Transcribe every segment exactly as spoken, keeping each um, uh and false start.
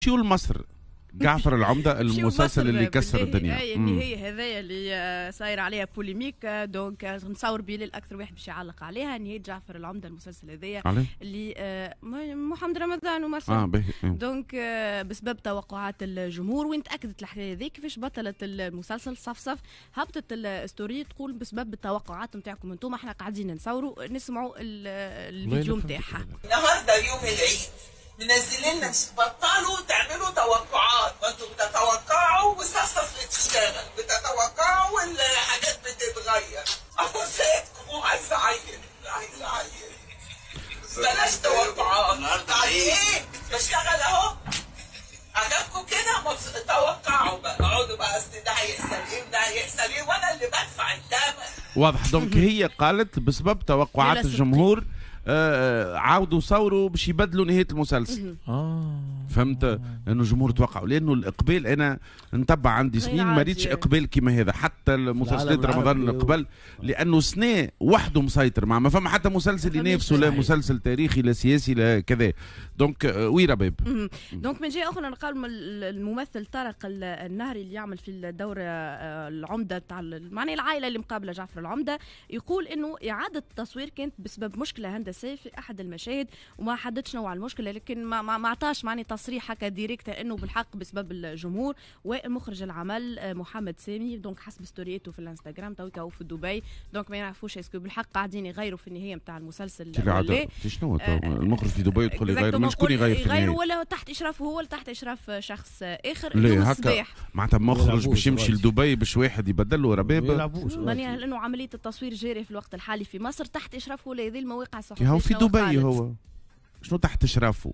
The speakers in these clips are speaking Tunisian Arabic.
نمشيو لمصر. جعفر العمدة المسلسل اللي كسر الدنيا. اي النهاية هذايا اللي صاير عليها polémique، donc نصور بلال اكثر واحد باش يعلق عليها نهاية جعفر العمدة المسلسل هذايا اللي محمد رمضان ومصر. اه باهي. donc بسبب توقعات الجمهور وين تاكدت الحكاية هذه كيفاش بطلت المسلسل صفصف هبطت ال story تقول بسبب التوقعات نتاعكم انتم احنا قاعدين نصوروا نسمعوا الفيديو نتاعها. النهارده يوم العيد منزلين لنا، بطلوا تعملوا توقعات، ما انتوا بتتوقعوا وصفصف بتشتغل، بتتوقعوا والحاجات بتتغير. اهو سيدكم عايز اعيط عايز اعيط، بلاش توقعات. النهارده ايه؟ بشتغل اهو، عجبكم كده؟ توقعوا بقى، اقعدوا بقى اصل ده هيحصل ايه وده هيحصل ايه وانا اللي بدفع الثمن. واضح. donc هي قالت بسبب توقعات الجمهور آه عاودوا صوروا باش يبدلوا نهاية المسلسل. اه فهمت؟ لانه الجمهور توقعوا، لانه الاقبال انا نتبع عندي سنين ما ريتش اقبال كيما هذا، حتى المسلسلات رمضان اللي قبل، لانه سنة وحده مسيطر، مع ما فما حتى مسلسل ينافسه، لا مسلسل تاريخي لا سياسي لا كذا. donc oui رباب. donc من جهة اخرى نلقاو الممثل طارق النهري اللي يعمل في الدور العمدة تاع معناها العائلة اللي مقابله جعفر العمدة، يقول انه اعاده التصوير كانت بسبب مشكلة هندسية في احد المشاهد وما حددش نوع المشكلة، لكن ما ما عطاش معني تصريح هكا direct انه بالحق بسبب الجمهور. ومخرج العمل محمد سامي donc حسب ستوريته في الانستغرام تويكا هو في دبي، donc ما يعرفوش est-ce que بالحق قاعدين يغيروا في النهاية نتاع المسلسل ولا شنو. المخرج في دبي يدخل يغير، من شكون يغير في النهاية؟ يغيروا ولا تحت اشرافه هو ولا تحت اشراف شخص اخر؟ لا هكا معناتها مخرج باش يمشي لدبي باش واحد يبدل له رباب، معناها لانه عملية التصوير جارية في الوقت الحالي في مصر تحت اشرافه ولا هذه المواقع الصحفية. هو في دبي، هو شنو تحت اشرافه؟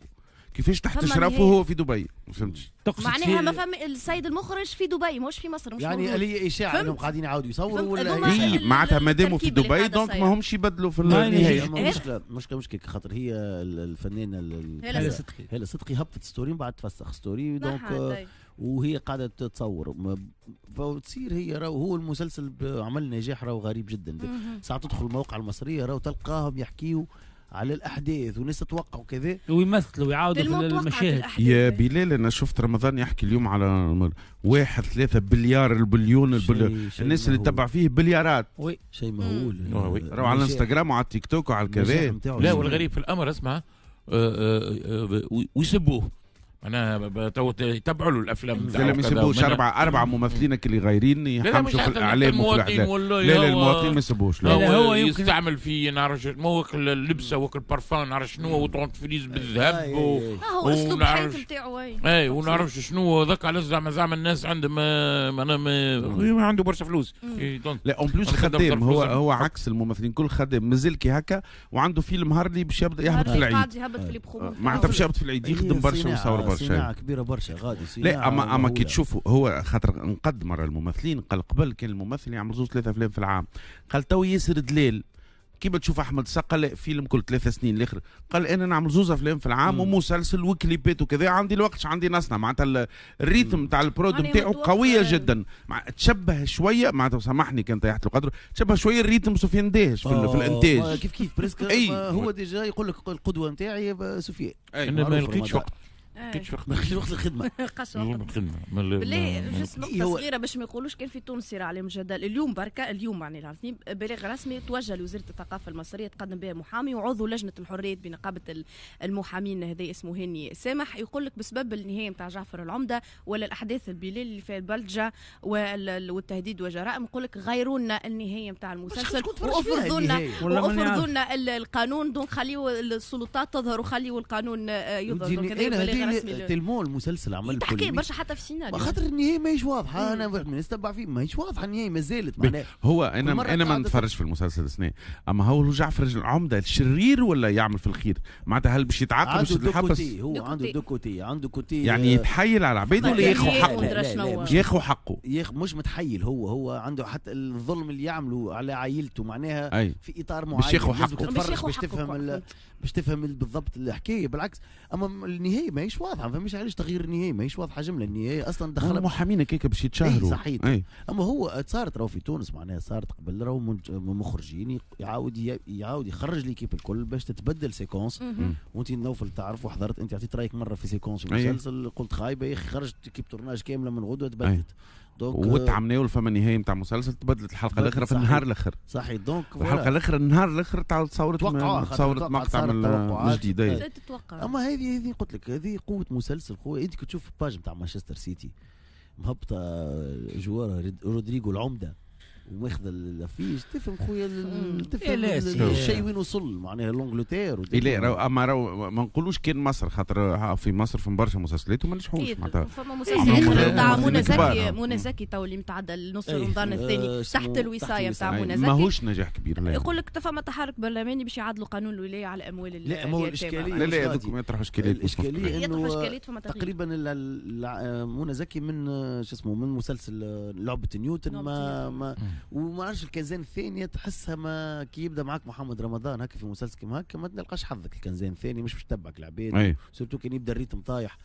كيفاش تحت اشرافه هو في دبي؟ ما فهمتش. معناها ما فهم السيد المخرج في دبي مش في مصر، مش يعني اللي اشاعة انهم قاعدين يعاودوا يصوروا ولا هي معناتها ماداموا في دبي donc ما همش يبدلوا في النهاية. مشكلة مشكلة مشكلة خاطر هي الفنانة هالة صدقي، هالة صدقي هبطت story من بعد تفسخ story، donc وهي قاعدة تصور فتصير هي راهو هو المسلسل عمل نجاح راهو غريب جدا. ساعات تدخل المواقع المصرية راهو تلقاهم يحكيوا على الاحداث وناس تتوقع وكذا ويمثلوا ويعاودوا في المشاهد. يا بلال انا شفت رمضان يحكي اليوم على واحد ثلاثة بليار البليون البليون، الناس اللي تتبع فيه بليارات. oui شيء مهول راهو على الانستغرام وعلى التيك توك وعلى الكذا. لا والغريب في الامر اسمع ويسبوه، معناها تو يتبعوا له الافلام لا ما يسبوش، اربعة اربعة ممثلين اللي غايرين يحمشوا في الاعلام وفي الاعلام. لا لا المواطنين ما يسبوش. لا, لا هو يستعمل في نعرف مو اللبسه وكل بارفان نعرف شنو و dentifrice بالذهب و هو اسلوب الحياة نتاعو. اي ونعرفش شنو ذاك على زعما زعما الناس عندهم معناها ما عنده برشا فلوس. لا en plus خدام، هو هو عكس الممثلين كل خدام مازال كي هكا وعنده فيلم هارلي باش يبدا يهبط في العيد، معناتها باش يهبط في العيد يخدم برشا ويصور برشا. صناعة كبيرة برشا غادي. لا اما اما كي تشوفوا هو خاطر نقد مرة الممثلين قال قبل كان الممثل يعمل زوج ثلاثة افلام في العام، قال تو ياسر دليل كيما تشوف احمد السقا لا فيلم كل ثلاثة سنين الاخر، قال انا نعمل زوز افلام في العام ومسلسل وكليبات وكذا، عندي الوقت عندي نصنع. معناتها ال rythme تاع ال prod نتاعو قوية جدا، مع تشبه شوية معناتها سامحني كان طيحت القدر، تشبه شوية ال rythme سفيان داهش في, في الانتاج كيف كيف presque. هو déjà يقول لك القدوة نتاعي سفيان. انا ما لقيتش وقت، لقيتش وقت، ما لقيتش وقت الخدمة. لقاش وقت الخدمة. بالله juste نقطة صغيرة باش ما يقولوش كان في تونس صار عليهم جدل اليوم بركة، اليوم معني العارفين بلاغ رسمي توجه لوزارة الثقافة المصرية تقدم بها محامي وعضو لجنة الحريات بنقابه المحامين هذا اسمه هاني سامح، يقول لك بسبب النهاية نتاع جعفر العمدة ولا الاحداث البلال اللي فيها البلجه والتهديد وجرائم، يقول لك غيروا لنا النهاية نتاع المسلسل وافرضوا لنا وافرضوا لنا القانون، donc خليوا السلطات تظهر وخليوا القانون يظهر. tellement المسلسل عمل تحكي برشا حتى في السيناريو خاطر النهاية ماهيش واضحة. انا نستبع فيه ماهيش واضحة النهاية مازالت معناها. هو انا انا ما نتفرجش في المسلسل السنة، اما هو جعفر العمدة الشرير ولا يعمل في الخير؟ معناتها هل باش يتعاقب باش يتحبس؟ هو عنده deux côtés، عنده côté يعني يتحايل على العباد ولا ياخذ حقه؟ ياخذ حقه، مش متحيل هو، هو عنده حتى الظلم اللي يعمله على عائلته معناها في اطار معين باش ياخذ حقه، باش تفهم باش تفهم بالضبط الحكاية. بالعكس اما النهاية ماهيش ماهيش واضحة، فماش علاش تغيير النهاية، ماهيش واضحة جملة النهاية اصلا. دخل المحامين هكاك باش يتشهروا. صحيح. اما هو صارت راهو في تونس معناها صارت قبل راهو مخرجين يعاود يعاود يخرج l'équipe الكل باش تتبدل séquence. وانت نوفل تعرف وحضرت انت عطيت رايك مرة في séquence مسلسل قلت خايبة يا اخي، خرجت équipe tournage كاملة من غدوه تبدلت. donc وتعملوا فما نهاية نتاع مسلسل تبدلت الحلقة الاخرى في النهار الاخر. صحيح. donc الحلقة الاخرى النهار الاخر تعاود تصورت تصورت مقطع من جديد. اما هذه هذه قلت لك هذه قوة مسلسل خويا. انت كي تشوف page نتاع مانشستر سيتي مهبطه joueur رودريغو العمدة وماخذ l'affiche، تفهم خويا تفهم الشيء وين وصل معناها l'Angleterre. لا اما راهو ما نقولوش كان مصر، خاطر في مصر فما برشا مسلسلات وما نجحوش معناتها. فما مسلسل اخر نتاع منى زكي، منى زكي تو اللي متعدى لنص رمضان الثاني تحت الوصايه نتاع منى زكي ماهوش نجاح كبير. يقول لك فما تحرك برلماني باش يعدلوا قانون الولاية على اموال. لا ما هو الاشكالية، لا لا هذوك ما يطرحوا اشكاليات. الاشكالية انه تقريبا منى زكي من شو اسمه من مسلسل لعبه نيوتن ما ما وما عرفش الكنزان الثانية تحسها ما كي يبدا معك محمد رمضان هكا في مسلسل كيما هكا ما تلقاش حظك. الكنزان الثاني مش باش تتبعك العباد، surtout كان يبدا ال rythme طايح.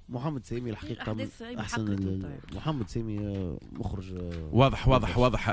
محمد سامي الحقيقة احسن، محمد سامي مخرج واضح واضح واضح.